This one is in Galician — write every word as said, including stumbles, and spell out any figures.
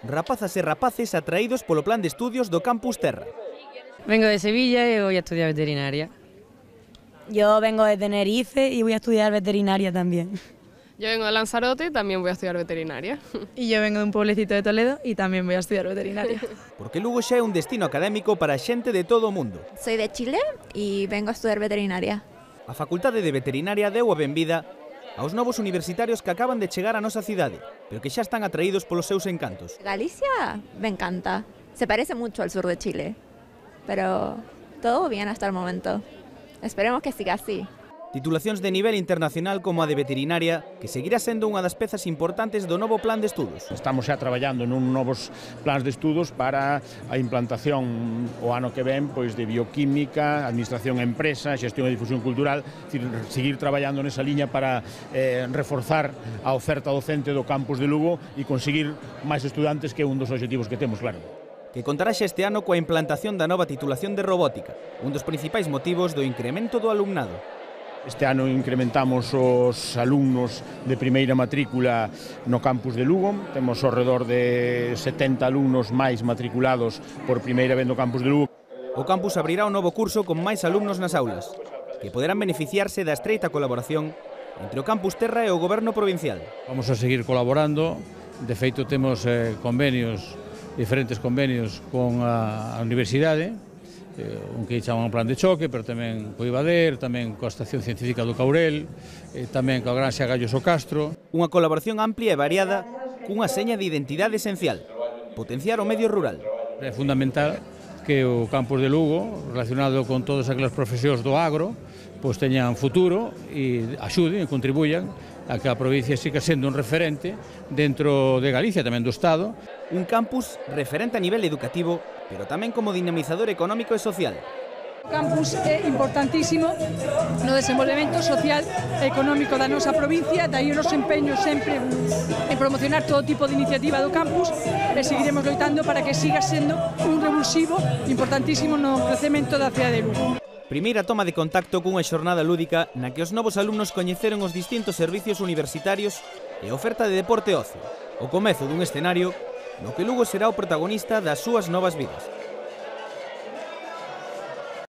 Rapazas e rapaces atraídos polo plan de estudios do Campus Terra. Vengo de Sevilla y voy a estudiar veterinaria. Yo vengo de Tenerife y voy a estudiar veterinaria también. Yo vengo de Lanzarote y también voy a estudiar veterinaria. Y yo vengo de un pueblecito de Toledo y también voy a estudiar veterinaria. Porque Lugo xa é un destino académico para xente de todo o mundo. Soy de Chile y vengo a estudiar veterinaria. A Facultade de Veterinaria deu a benvida aos novos universitarios que acaban de chegar á nosa cidade, pero que xa están atraídos polos seus encantos. Galicia me encanta. Se parece mucho al sur de Chile, pero todo bien hasta el momento. Esperemos que siga así. Titulacións de nivel internacional como a de veterinaria, que seguirá sendo unha das pezas importantes do novo plan de estudos. Estamos xa traballando nun novos plans de estudos para a implantación o ano que ven pois de bioquímica, administración e empresa, xestión e difusión cultural, decir, seguir traballando nesa liña para eh, reforzar a oferta docente do campus de Lugo e conseguir máis estudantes, que é un dos obxectivos que temos, claro. Que contará xa este ano coa implantación da nova titulación de robótica, un dos principais motivos do incremento do alumnado. Este ano incrementamos os alumnos de primeira matrícula no campus de Lugo. Temos ao redor de setenta alumnos máis matriculados por primeira vez no campus de Lugo. O campus abrirá un novo curso con máis alumnos nas aulas, que poderán beneficiarse da estreita colaboración entre o Campus Terra e o Goberno provincial. Vamos a seguir colaborando. De feito, temos eh, convenios, diferentes convenios con a, a universidade, un que chaman un plan de choque, pero tamén co Ibader, tamén coa Estación Científica do Caurel, tamén coa Granxa Gallos o Castro. Unha colaboración amplia e variada cunha seña de identidade esencial, potenciar o medio rural. É fundamental que o campus de Lugo, relacionado con todas aquelas profesións do agro, pois teñan futuro e axuden e contribuyan a que a provincia siga sendo un referente dentro de Galicia, tamén do Estado. Un campus referente a nivel educativo, pero tamén como dinamizador económico e social. O campus é importantísimo no desenvolvemento social e económico da nosa provincia, daí o noso empeño sempre en promocionar todo tipo de iniciativa do campus e seguiremos loitando para que siga sendo un revulsivo importantísimo no crecemento da cidade de Lugo. Primeira toma de contacto cunha xornada lúdica na que os novos alumnos coñeceron os distintos servicios universitarios e a oferta de deporte e ocio, o comezo dun escenario no que Lugo será o protagonista das súas novas vidas.